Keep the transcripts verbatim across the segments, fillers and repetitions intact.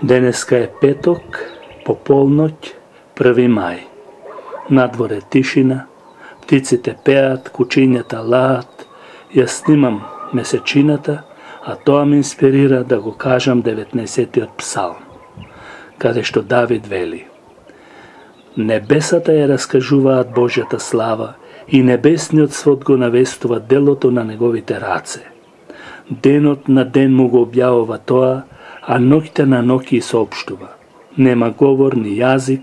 Денеска е петок, по полноќ, први мај. Надворе тишина, птиците пеат, кучињата лаат, јас снимам месечината, а тоа ме инспирира да го кажам деветнаесеттиот псалм, каде што Давид вели: Небесата ја раскажуваат Божјата слава и небесниот свод го навестува делото на неговите раце. Денот на ден му го објавува тоа, а ноќта на ноќ соопштува. Нема говор ни јазик,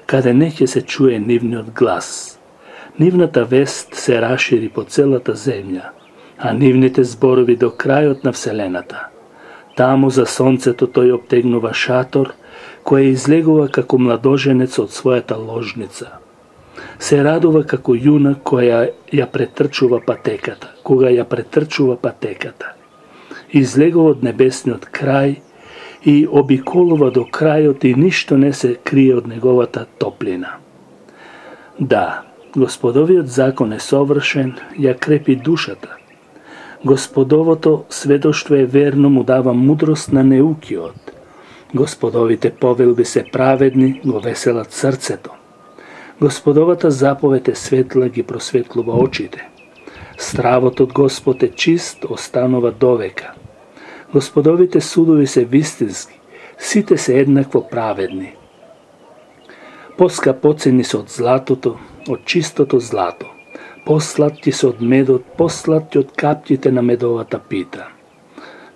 каде не ќе се чуе нивниот глас. Нивната вест се рашири по целата земја, а нивните зборови до крајот на вселената. Таму за сонцето тој обтегнува шатор, кој излегува како младоженец од својата ложница. Се радува како јуна која ја претрчува патеката, кога ја претрчува патеката. Излегува од небесниот крај и обиколува до крајот и ништо не се крие од неговата топлина. Да, Господовиот закон е совршен, ја крепи душата. Господовото сведоштво е верно, му дава мудрост на неукиот. Господовите повелби се праведни, го веселат срцето. Господовата заповед е светла, ги просветлува очите. Стравот од Господ е чист, останува довека. Господовите судови се вистински, сите се еднакво праведни. Поскапоцени се од златото, од чистото злато. Посладки се од медот, посладки од капките на медовата пита.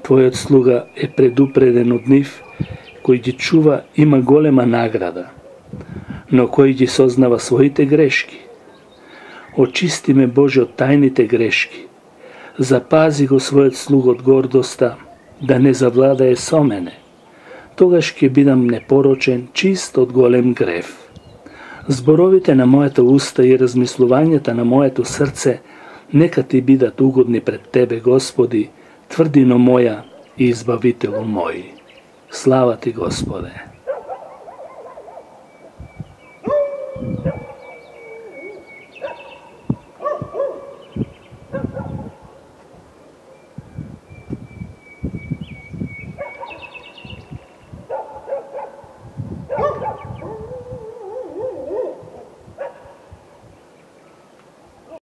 Твојот слуга е предупреден од нив, кој ги чува има голема награда, но кој ги сознава своите грешки. Очисти ме, Боже, од тајните грешки. Запази го својот слуга од гордоста, да не завладае со мене. Тогаш ќе бидам непорочен, чист од голем грев. Зборовите на моето уста и размислувањата на моето срце нека ти бидат угодни пред Тебе, Господи, тврдино моја и избавителу мој. Слава Ти, Господе!